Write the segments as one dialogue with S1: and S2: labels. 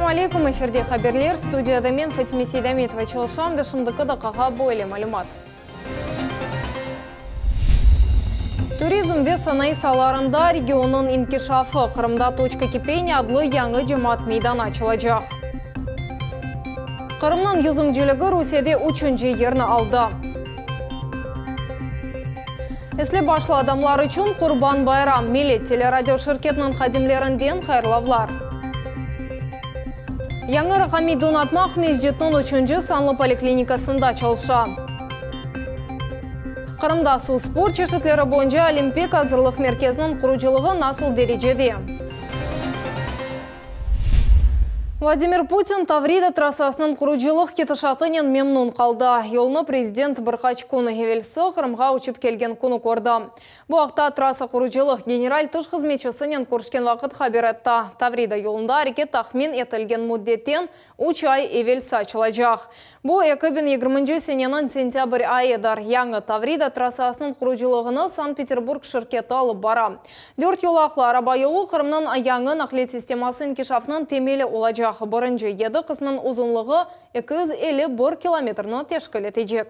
S1: Selâm aleyküm, efirde haberler, studiyada men, Fatime Seydametova çalışam ve şimdiki daqqağa böyle malümat. Turizm ve sanayı saalarında regionnıñ inkişafı, Qırımda Toçka kipeniya adlı yañı cemaat meydanı açılacaq. Qırımnıñ yüzümciligi Rusiyede üçünci yerni aldı. Esli başlı adamlar içün Qurban bayram, Millet teleradio şirketiniñ hadimlerinden hayırlavlar. Yañı raqamiy donatma Aqmescitniñ üçünci sanlı poliklinikasında çalışa. Qırımda suv sport çeşitleri boyunca Olimpik azırlıq merkeziniñ qurucılığı nasıl derecede? Vladimir Putin Tavrida trassasınıñ qurucılıq ketişatınen memnun qaldı. Yolnı prezident bir qaç kün evelsi Qırımğa uçıp kelgen künü kördi. Bu aqta trassa qurucılıq general tış hızmetçisinen körüşken vaqıt haber etti. Tavrida yolunda areket tahmin etilgen müddetten üç ay evelsi açılacaq. Bu, 2020 seneniñ sentâbr ayıdır. Yañı Tavrida trassasınıñ qurucılığını Sankt-Peterburg şirketi alıp bara. Dört yolaqlı araba yolu Qırımnıñ yañı naqliyat sisteması inkişafınıñ temeli olacaq. Birinci yedi qısmınıñ uzunlığı 251 kilometrni teşkil etecek.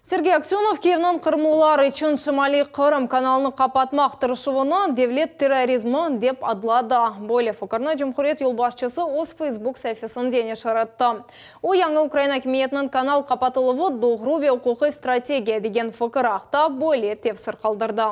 S1: Sergey Aksönov Kiyevniñ qırımlılar içün Şimaliy Qırım kanalını qapatmaq tırışuvını devlet terrorizmi dep adladı. Böyle fikirni cumhuriyet yolbaşçısı öz Facebook saifesinde neşir etti. O, yañı ukrain akimiyetiniñ kanal qapatıluvı doğru ve uquqiy strategiya degen fikir aqta böyle tefsir qaldırdı.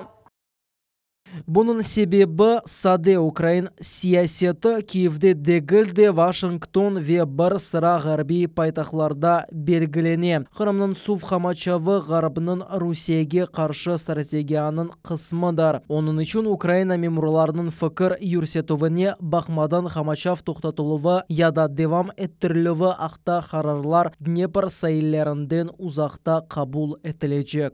S2: Bunıñ sebebi sade, ukrain siyaseti Kiyevde degil de, Vaşington ve bir sıra ğarbiy paytahtlarda belgilene. Qırımnıñ suv qamaçavı Ğarpnıñ Rusiyege qarşı strategiyanıñ qısmıdır. Onıñ içün Ukraina memurlarınıñ fikir yürsetüvine baqmadan qamaçav toqtatıluvı ya da devam ettirilüvi aqta qararlar Dnepr saillerinden uzaqta qabul etilecek.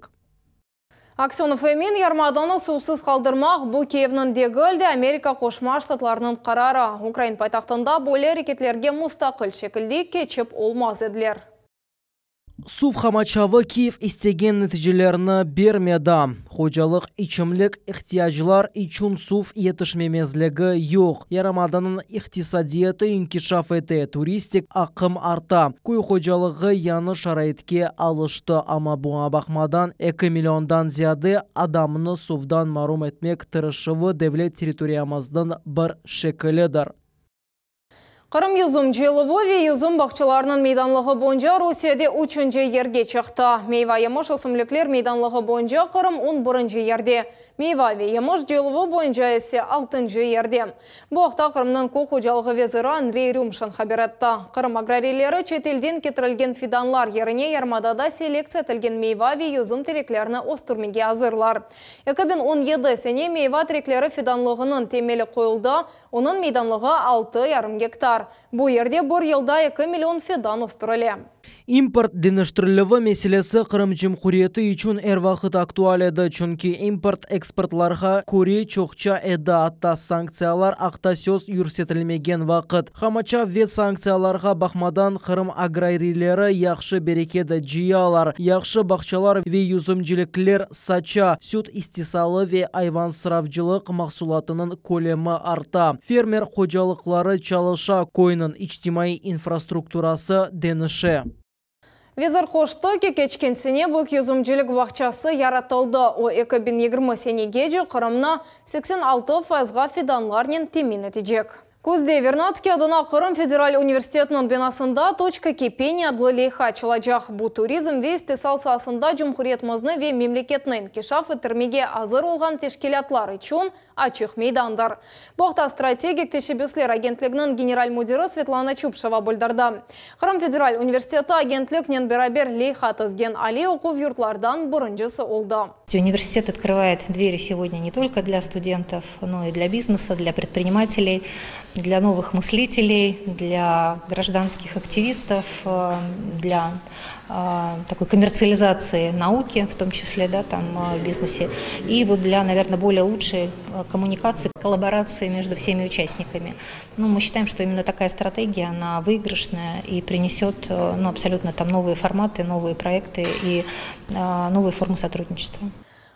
S1: Aksönov emin, yarımadanı suvsız qaldırmaq, bu Kiyevniñ degil de, Amerika Qoşma Ştatlarınıñ qararı. Ukrain paytahtında böyle areketlerge mustaqil şekilde keçip olmaz ediler.
S2: Suv qamaçavı Kiyev istegen neticelerni bermedi. Hocalıq, içimlik ihtiyaclar içün suv yetişmemezligi yoq. Yarımadanıñ iqtisadiyatı inkişaf ete, turistik aqım arta, köy hocalığı yañı şaraitke alıştı, amma buña baqmadan, eki milliondan ziyade adamnı suvdan marum etmek tırışuvı devlet territoriyamıznıñ bir şekilidir.
S1: Qırım yüzüm cıyıluvı ve yüzüm bağçalarınıñ meydanlığı boyunca Rusiyede üçünci yerge çıqtı. Meyva-yemiş ösümlikler meydanlığı boyunca Qırım on birinci yerde, meyva ve yemiş cıyıluvı boyunca ise altıncı yerde. Bu aqta Qırımnıñ köy hocalığı veziri Andrey Rümşin haber etti. Qırım agrariyleri çetelden ketirilgen fidanlar yerine yarımadada selektsiya etilgen meyva ve yüzüm tereklerini östürmege azırlar. 2017 sene meyva terekleri fidanlığınıñ temeli qoyuldı, Onıñ meydanlığı altı yarım gektar. Bu yerde bir yılda eki million fidan östürile.
S2: İmport deñiştirilüvi meselesi Qırım Cumhuriyeti içün er vaqıt aktual edi, çünki import eksportlarğa köre çoqça edi, atta sanktsiyalar aqta söz yürsetilmegen vaqıt. Qamaçav ve sanktsiyalarğa baqmadan, Qırım agrariyleri yahşı bereket cıyalar, yahşı bağçalar ve yüzümcilikler saça, süt istisalı ve ayvansıravcılıq mahsulatınıñ kölemi arta, fermer hocalıqları çalışa, köyniñ içtimaiy infrastrukturası deñişe.
S1: Vezir qoştı ki, keçken sene büyük yüzümcilik bağçası yaratıldı, o, 2020 senegece Qırımnı 86 fayızğa fidanlarnen temin etecek. Küzde Vernadskiy adına Qırım federal universitetiniñ binasında Toçka kipeniya adlı leyha açılacaq. Bu turizm ve istisal saasında cumhuriyetimizni ve memleketni inkişaf ettirmege azır olğan teşkilâtlar içün açıq meydandır. Bu aqta Strategik teşebbüsler agentliginiñ general müdiri Svetlana Çupşeva bildirdi. Qırım federal universiteti agentliknen beraber leyha tizgen aliy oquv yurtlardan birincisi oldı.
S3: Universitet открывает двери сегодня не только для студентов, но и для бизнеса, для предпринимателей, для новых мыслителей, для гражданских активистов, для такой коммерциализации науки, в том числе, да, там, в бизнесе, и вот для, наверное, более лучшей коммуникации, коллаборации между всеми участниками. Ну, мы считаем, что именно такая стратегия, она выигрышная и принесет, ну, абсолютно там новые форматы, новые проекты и новые формы сотрудничества.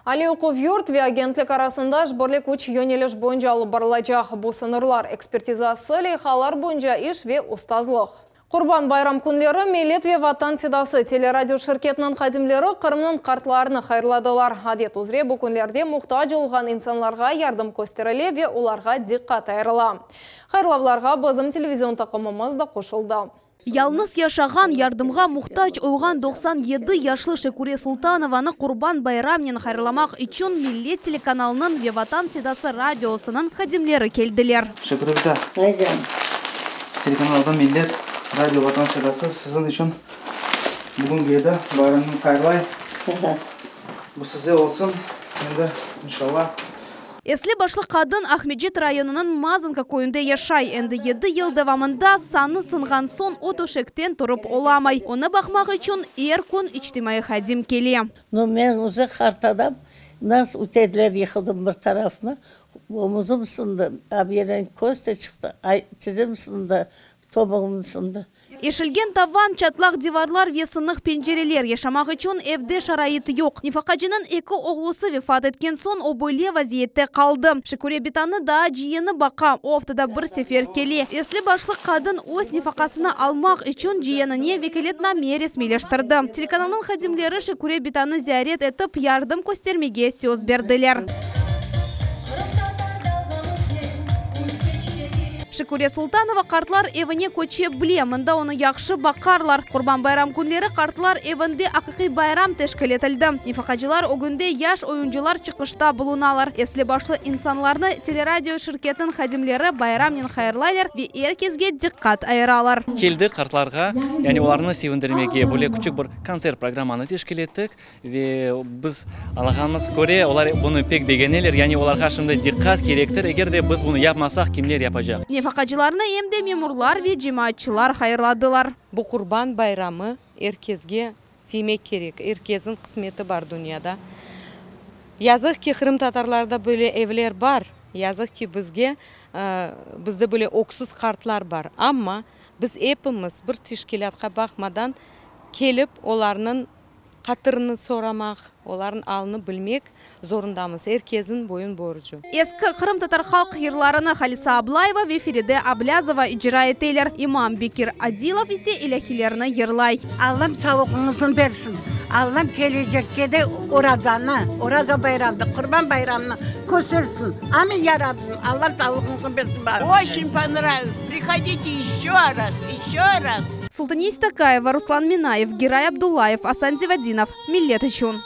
S1: Aliy oquv yurt ve agentlik arasında işbirlik üç yöneliş boyunca alıp barılacaq. Bu sıñırlar ekspertizası, leyhalar boyunca iş ve ustazlıq. Qurban bayram künleri Millet ve Vatan sedası teleradio şirketiniñ hadimleri Qırımnıñ qartlarını hayırladılar. Adet üzre bu künlerde muhtac olğan insanlarğa yardım kösterile ve olarğa diqqat ayırıla. Hayırlavlarğa bizim televizion taqımımız da qoşuldı.
S4: Yalnız yaşağan, yardımğa muhtac olğan 97 yaşlı Şekure Sultanovanı Qurban bayramnen hayırlamaq içün Millet telekanalınıñ ve Vatan sedası radiosınıñ hadimleri keldiler.
S5: Şekure bita, telekanaldan Millet, radio Vatan sedası siziñ içün bugün keldi, bayramnı hayırlay. Bu size olsun, endi, inşallah.
S4: Esli-başlı qadın Aqmescit rayonınıñ Mazanka köyünde yaşay. Endi yedi yıl devamında sanı sınğan soñ o töşekten turıp olamay. Onı baqmaq içün er kün içtimaiy hadim kele.
S6: No, men uje qart adam, nasıl üteldiler, yıqıldım bir tarafıma, omuzım sındı, a bir yerden köz de çıqtı, ay, tizim sındı, Tobuğım sındı.
S4: Eşilgen tavan, çatlaq divarlar ve sınıq pencereler, yaşamaq içün evde şarait yoq. Nefaqacınıñ eki oğlusı vefat etken soñ o böyle vaziyette qaldı. Şüküre bitanı daa ciyeni baqa, o aftada bir sefer kele. Esli-başlı qadın öz nefaqasını almaq içün ciyenine vekâletname resmiyleştirdi. Telekanalnıñ hadimleri Şüküre bitanı ziyaret etip, yardım köstermege söz berdiler. Şüküre Sultanova qartlar evine köçe bile, mında onı yahşı baqarlar. Qurban bayram künleri qartlar evinde aqiqiy bayram teşkil etildi. Nefaqacılar ögünde yaş oyuncılar çıqışta bulunalar. Esli-başlı insanlarnı teleradio şirketiniñ hadimleri bayramnen hayırlaylar ve er kesge diqqat ayıralar.
S5: Keldik qartlarğa, yani olarnı sevindirmege, böyle küçük bir kontsert programmanı teşkil ettik. Ve biz añlağanımız köre, olar bunı pek begeneler, yani olarğa şimdi diqqat kerektir, eger de biz bunı yapmasaq, kimler yapacaq?
S4: Nefaqacılarnı em de memurlar ve cemaatçılar hayırladılar.
S7: Bu Qurban bayramı er kesge tiymek kerek, er kesniñ qısmeti bar dünyada. Yazıq ki, qırımtatarlarda böyle evler bar, yazıq ki, bizge, bizde böyle öksüz qartlar bar, amma biz epimiz bir teşkilâtqa baqmadan kelip olarnıñ Hatırını soramaq, olarnıñ alını bilmek zorundamız, er kesniñ boyun borcu.
S4: Eski qırımtatar halq yırlarını Halisa Ablayeva ve Feride Ablâzova icra eteler, imam Bekir Adilov ise ilâhilerni yırlay.
S8: Allam sağlıqıñıznı bersin. Allam kelecekke de orazanı, Oraza bayramnı, Qurban bayramnı köstersin. Amin, ya Rabbim. Allam sağlıqıñıznı bersin.
S9: Oçen ponravilось. Prihodite eşçö raz, eşçö raz.
S4: Sultaniye Stakayeva, Ruslan Minayev, Giray Abdullayev, Asan Zivadinov, Millet içün.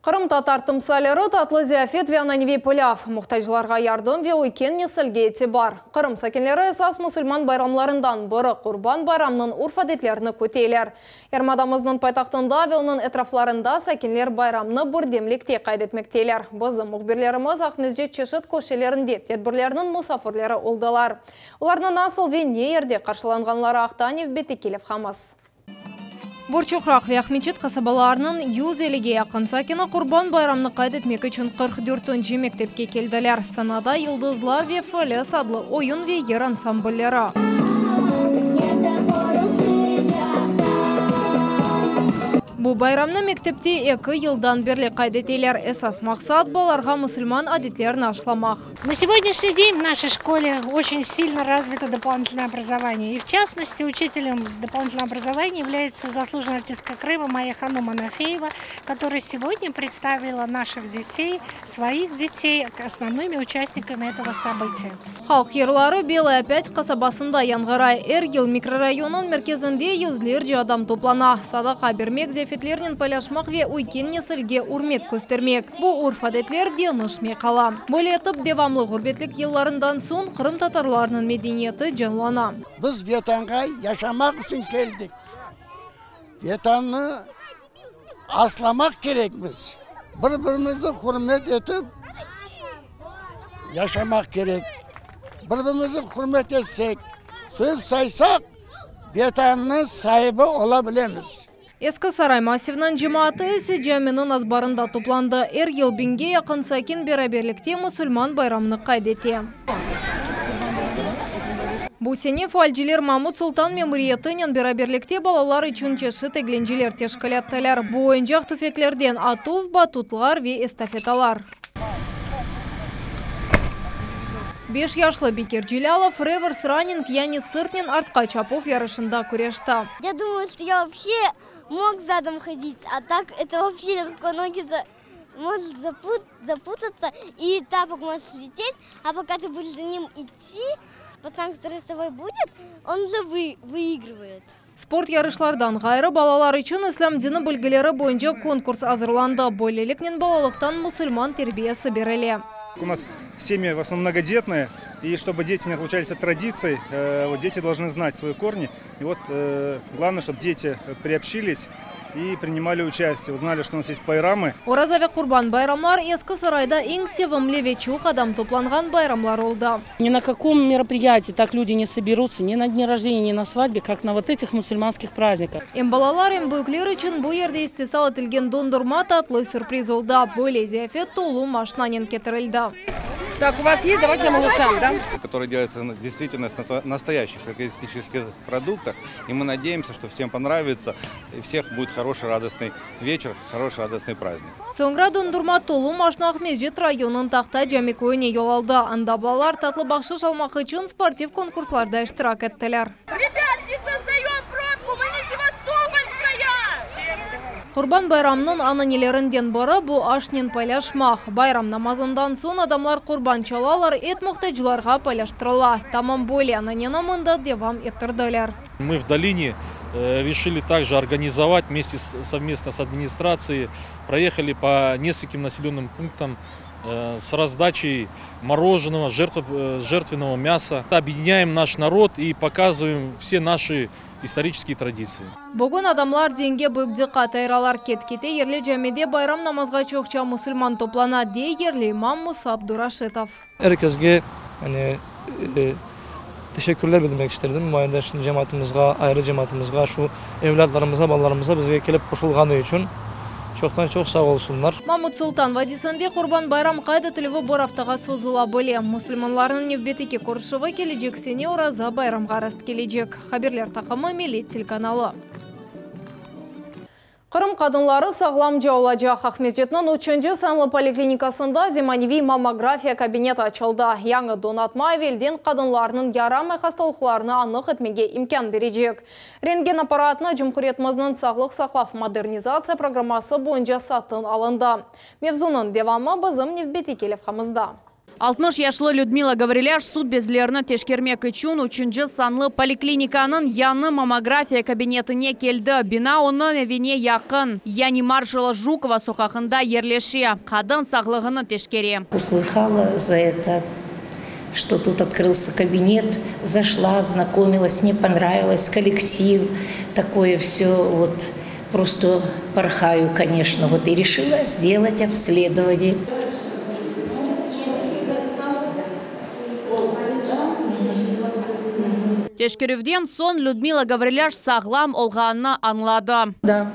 S1: Qırımtatar timsalleri, tatlı ziyafet ve ananeviy pilâv, muhtaclarğa yardım ve üyken nesilge itibar. Qırım sakinleri esas musulman bayramlarından biri, Qurban bayramınıñ urf-adetlerini küteler. Yarımadamıznıñ paytahtında ve onıñ etraflarında sakinler bayramnı birdemlikte qayd etmekteler. Bizim mühbirlerimiz Aqmescit çeşit köşelerinde tedbirlerniñ musafirleri oldılar. Olarnı nasıl ve ne yerde qarşılanğanları aqta nevbetteki levhamız. Borçoqraq ve Aqmeçit qasabalarınıñ 150-ge yaqın sakini Qurban bayramını qayd etmek içün 44-nci mektepke keldiler. Sanada Yıldızlar ve Föles adlı oyun ve yır ansamblleri. Bu bayramnı mektepte eki yıldan berli qayd eteler. Esas maqsat, balalarğa musulman adetlerini aşlamaq.
S10: На сегодняшний день в нашей школе очень сильно развито дополнительное образование. И в частности, учителем дополнительного образования является заслуженная артистка Крыма Майя Ханум Анафеева, которая сегодня представила наших детей, своих детей основными участниками этого события.
S1: Halq yırları Belaya Pâtь qasabasında yañğıray. Er yıl mikrorayonnıñ merkezinde yüzlerce adam toplana. Sadaqa bermek, ziyafetlernen paylaşmaq ve üyken nesilge ürmet köstermek. Bu urf-adetler deñişmey qala. Böyle etip, devamlı ğurbetlik yıllarından soñ qırımtatarlarnıñ medeniyeti canlana.
S11: Biz Vetanğa yaşamaq içün keldik. Vetannı aslamaq kerekmiz. Bir-birimizni hürmet etip yaşamaq kerek. Bir-birimizni hürmet etsek, sevip saysaq, Vetannıñ saibi ola bilemiz.
S1: Eski Saray massiviniñ cemaatı ise caminiñ azbarında toplandı. Er yıl biñge yaqın sakin beraberlikte musulman bayramını qayd ete. Bu sene faalciler Mamut Sultan memuriyetinen beraberlikte balalar içün çeşit eglenceler teşkil ettiler. Bu oyuncaq tüfeklerden atuv, batutlar ve estafetalar. Beş yaşlı Bekir Celâlov revers running, yani sırtnen artqa çapuv yarışında küreşti.
S12: Ya dumаю, что я вообще мог задом ходить, а так это вообще легко ноги может запутаться, и тапок может слететь, а пока ты будешь за ним идти, пацан, который с тобой будет, он уже выигрывает.
S1: Sport yarışlardan ğayrı, balalar içün İslâm dini bilgileri boyunca konkurs azırlandı. Böyleliknen balalıqtan musulman terbiyesi berile.
S13: У нас семьи в основном многодетные, и чтобы дети не отлучались от традиций, вот дети должны знать свои корни. И вот главное, чтобы дети приобщились и принимали участие, узнали, что у нас есть байрамы.
S1: Oraza ve Qurban bayramlar Eski Sarayda eñ sevimli ve çoq adam toplanğan bayramlar oldı.
S14: Ни на каком мероприятии так люди не соберутся, ни на дне рождения, ни на свадьбе, как на вот этих мусульманских праздниках.
S1: Em balalar, em büyükler içün bu yerde istisal etilgen dondurma tatlı sürpriz oldı. Böyle ziyafet tolu maşnanen ketirildi.
S15: Так, у вас есть? Давайте малышам, да?
S16: Который делается действительно на настоящих экологических продуктах. И мы надеемся, что всем понравится. И всех будет хороший, радостный вечер, хороший, радостный праздник.
S1: Soñra dondurma tolu maşna Aqmescit rayonınıñ Tahta Cami köyüne yol aldı. Anda balalar tatlı bahşış almaq içün sportiv konkurslarda iştirak ettiler.
S15: Ребят, не создаем пробку, мы не Севастопольская!
S1: Qurban bayramınıñ ananelerinden biri bu aşnen paylaşmaq. Bayram namazından soñ adamlar qurban çalalar, et muhtaclarğa paylaştırıla. Tamam böyle ananeni mında devam ettirdiler.
S17: Мы в долине решили также организовать вместе с, совместно с администрацией, проехали по нескольким населенным пунктам с раздачей мороженого, жертвенного мяса. Объединяем наш народ и показываем все наши исторические традиции.
S1: Bugün adamlar dinge büyük diqqat ayıralar. Ket-kete yerli camide bayram namazğa çoqça musulman toplana, dey yerli imam Musa Abduraşitov.
S18: Er keske yani teşekkürler bildirmek isterdim. Muayyen cemaatımızğa, ayrı cemaatımızğa, şu evlâtlarımızğa, balalarımızğa bizge kelip qoşulğanı içün çoqtan çoq sağ olsunlar.
S1: Mamut Sultan vadiysinde Qurban bayram qayd etilüvi bir aftağa sozula bile. Musulmanlarnıñ nevbetteki körüşüvi kelecek sene Oraza bayramğa rast kelecek. Haberler taqımı Millet telekanalı. Qırım qadınları sağlamca olacaq. Aqmescitniñ üçünci sanlı poliklinikasında zemaneviy mammografiya kabineti açıldı. Yañı donatma evelden qadınlarnıñ yaramay hastalıqlarını anıq etmege imkân berecek. Rentgen apparatını cumhuriyetimizniñ sağlıq saqlav modernizatsiya programması boyunca satın alındı. Mevzunıñ devamı bizim nevbetteki levhamızda.
S4: 60 yaşlı Lüdmila Gavrilâş süt bezlerini teşkermek içün üçünci sanlı poliklinikanıñ yañı mammografiya kabinetine keldi. Bina onıñ evine yaqın, yani Marşala Jukova soqağında yerleşe. Qadın sağlığını teşkere.
S19: Услыхала за это, что тут открылся кабинет, зашла, ознакомилась, мне понравилось, коллектив, такое все вот просто порхаю, конечно, вот и решила сделать обследование.
S4: Teşkerüvden soñ Lüdmila Gavrilâş sağlam olğanını añladı.
S20: Да,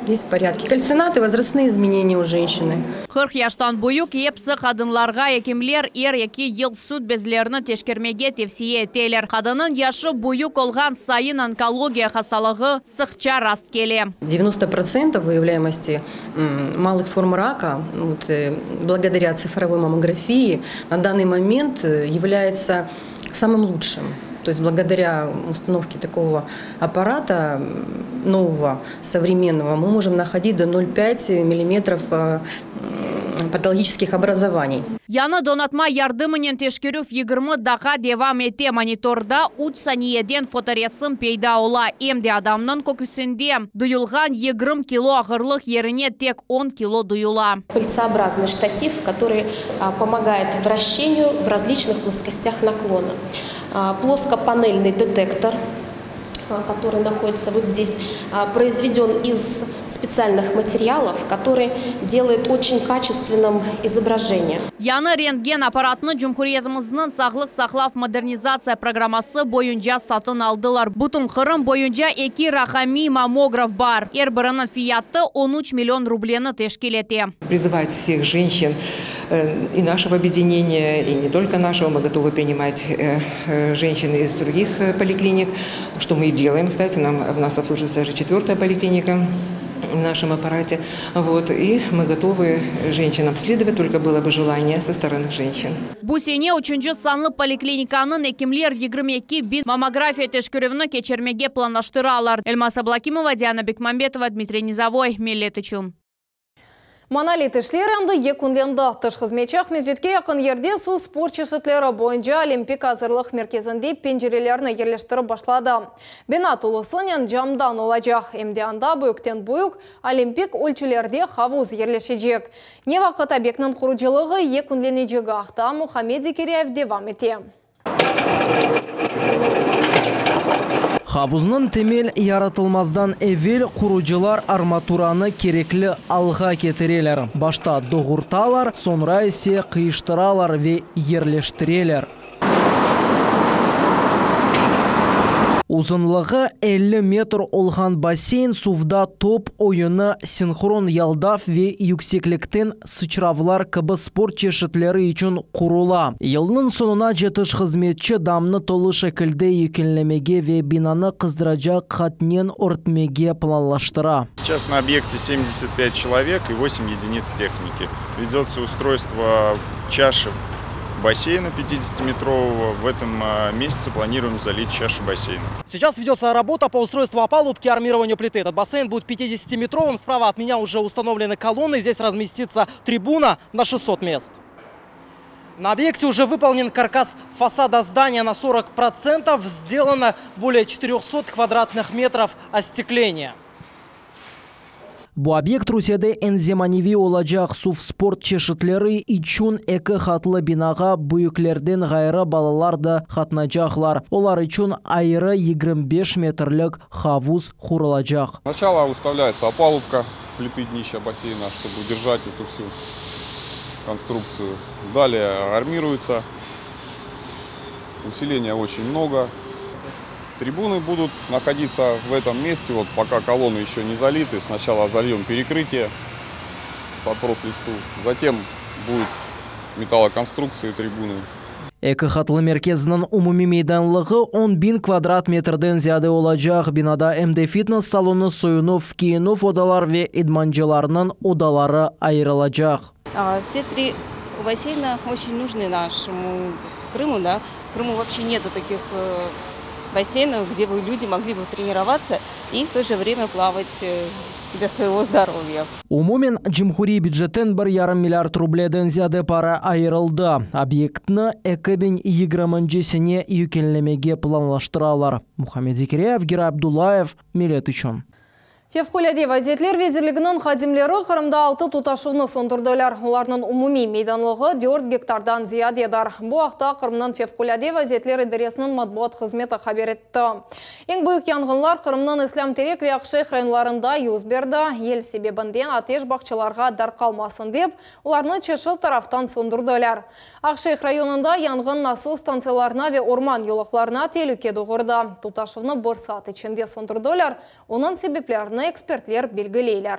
S20: здесь в порядке. Кальцинаты, возрастные изменения у женщины.
S4: 40 yaştan büyük episi qadınlarğa ekimler er eki yıl süt bezlerini teşkermege tevsiye eteler. Qadınnıñ yaşı büyük olğan sayın onkologiya hastalığı sıqça rast kele.
S20: 90% выявляемости малых форм рака вот, благодаря цифровой маммографии на данный момент является самым лучшим. То есть благодаря установке такого аппарата нового, современного, мы можем находить до 0,5 миллиметров патологических образований.
S4: Yañı donatma yardımınen teşkerüv 20 daqqa devam ete. Monitorda 3 saniyeden fotoresim peyda ola. Em de adamnıñ köküsinde duyulğan 20 kilo ağırlıq yerine tek 10 kilo duyula.
S21: Кольцеобразный штатив, который помогает вращению в различных плоскостях наклона. Плоскопанельный детектор, который находится вот здесь, произведен из специальных материалов, который делает очень качественным изображение.
S4: Yañı rentgen apparatını Cumhuriyetimizniñ sağlıq saqlav modernizatsiya programması boyunca satın aldılar. Bütün Qırım boyunca eki raqamiy mammograf bar. Er biriniñ fiyatı 13 million rubleni teşkil ete.
S22: Призывать всех женщин.
S2: и нашего объединения, и не только нашего. Мы готовы принимать женщин из других поликлиник, что мы и делаем, кстати. Нам, у нас обслуживается даже четвертая поликлиника в нашем аппарате. Вот, и мы готовы женщин обследовать, только было бы желание со стороны женщин.
S22: Bu sene üçünci sanlı poliklinikanıñ ekimler 22 biñ mammografiya teşkerüvini keçirmege planlaştıralar. Elmaz Ablakimova, Diana Bekmambetova, Dmitriy Nizavoy. Millet içün.
S1: Monolit işler endi yekünlendi. Tış hızmetçi Aqmescitke yaqın yerde suv sport çeşitleri boyunca Olimpik azırlıq merkezinde pencerelerni yerleştirip başladı. Bina tolusınen camdan olacaq. Em de anda büyükten büyük olimpik ölçülerde havuz yerleşecek. Ne vaqıt obyektniñ qurucılığı yekünlenecegi aqta Muhammed Zekiryayev devam ete.
S23: Havuznıñ temel yaratılmazdan evel qurucılar armaturanı kerekli alğa ketireler. Başta doğurtalar, soñra ise qıyıştıralar ve yerleştireler. Uzunlığı 50 metr olğan basseyn suvda top oyunı, sinhron yaldav ve yükseklikten sıçravlar kibi sport çeşitleri içün qurula. Yılnıñ soñunace tış hızmetçi damnı tolu şekilde yekünlemege ve binanı qızdıracaq qatnen örtmege planlaştıra.
S24: Сейчас на объекте 75 человек и 8 единиц техники. Ведется устройство чаши бассейна 50-метрового. В этом месяце планируем залить чашу бассейна.
S25: Сейчас ведется работа по устройству опалубки и армированию плиты. Этот бассейн будет 50-метровым. Справа от меня уже установлены колонны. Здесь разместится трибуна на 600 мест. На объекте уже выполнен каркас фасада здания на 40%. Сделано более 400 квадратных метров остекления.
S23: Bu obyekt Rusiyede eñ zemaneviy olacaq suv sport çeşitleri içün eki qatlı binağa büyüklerden ğayrı balalar da qatnaycaqlar. Olar içün ayrı 25 metrlik havuz qurulacaq.
S24: Сначала выставляется опалубка плиты днища бассейна, чтобы удержать эту всю конструкцию. Далее армируется. Усиления очень много. Трибуны будут находиться в этом месте, вот пока колонны еще не залиты. Сначала зальем перекрытие по профлисту, затем будет металлоконструкции трибуны.
S23: Eki qatlı merkezniñ umumiy meydanlığı 10 biñ kvadrat metrden ziyade olacaq. Binada em de fitness salonı, soyunuv, kiyinüv odalar ve idmancılarnıñ odaları ayırılacaq.
S7: Все три бассейна очень нужны нашему Крыму, да. В Крыму вообще нету таких э, бассейнов, где бы люди могли бы тренироваться и в то же время плавать э, для своего здоровья.
S23: Umumen cumhuriy bücetten 1,5 milliard rubleden ziyade para ayırıldı. Obyektni 2020 sene yekünlemege planlaştıralar. Muhammed Zekiryayev, Giray Abdullayev, Millet içün.
S1: Fevqulâde vaziyetler vezirliginiñ hadimleri Qırımda altı tutaşuvnı söndürdiler. Olarnıñ umumiy meydanlığı 4 gektardan ziyadedir. Bu aqta Qırımnıñ Fevqulâde vaziyetler idaresiniñ matbuat hızmeti haber etti. Eñ büyük yanğınlar Qırımnıñ İslâm Terek ve Aqşeyh rayonlarında yüz berdi. Yel sebebinden ateş bağçalarğa darqalmasın dep, olarnı çeşit taraftan söndürdiler. Aqşeyh rayonında yanğın nasos stantsiyalarına ve orman yolaqlarına telüke doğurdı. Tutaşuvnı bir saat içinde söndürdiler. Onıñ sebeplerini ekspertler belgileyler.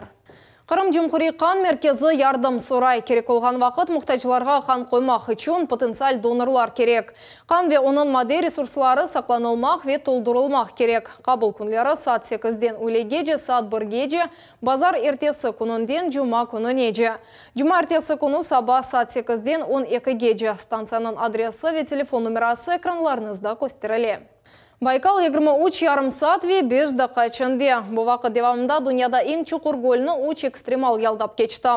S1: Qırım Cumhuriy qan merkezi yardım soray. Kerek olğan vaqıt muhtaclarğa qan qoymaq içün potentsial donorlar kerek. Qan ve onıñ madde resursları saqlanılmaq ve toldurılmaq kerek. Qabul künleri saat 8-den üylegece, saat 1-gece, bazar ertesi kününden cuma kününece. Cumaertesi künü saba saat 8-den 12-gece. Stantsiyanıñ adresi ve telefon numerası ekranlarıñızda kösterile. Baykal 23 yarım saat ve 5 daqqa içinde. Bu vaqıt devamında dünyada eñ çuqur gölni 3 ekstremal yaldap keçti.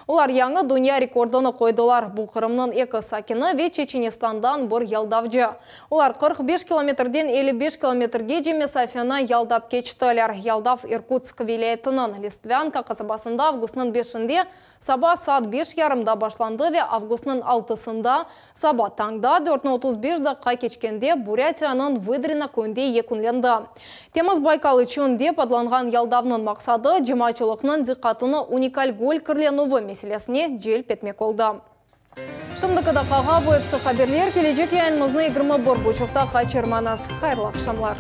S1: Olar yañı dünya rekordını qoydılar. Bu Qırımnıñ eki sakini ve Çeçenistandan bir yaldavcı. Olar 45 kilometrden 55 kilometrgece mesafeni yaldap keçtiler. Yaldav İrkutsk vilâyetiniñ Listvânka qasabasında avgustnıñ beşinde Saba saat beş yarımda başlandı ve avgustnıñ altısında saba tañda dörtni 35 daqqa keçkende Burâtiyanıñ Vıdrino köyünde yekünlendi. Temiz Baykal içün dep adlanğan yaldavnıñ maqsadı, cemaatçılıqnıñ diqqatını unikal göl kirlenüvi meselesine celp etmek oldı. Şimdiki daqqağa bu episi haberler. Kelecek yayınımıznı 21 buçuqta qaçırmañız. Hayırlı aqşamlar.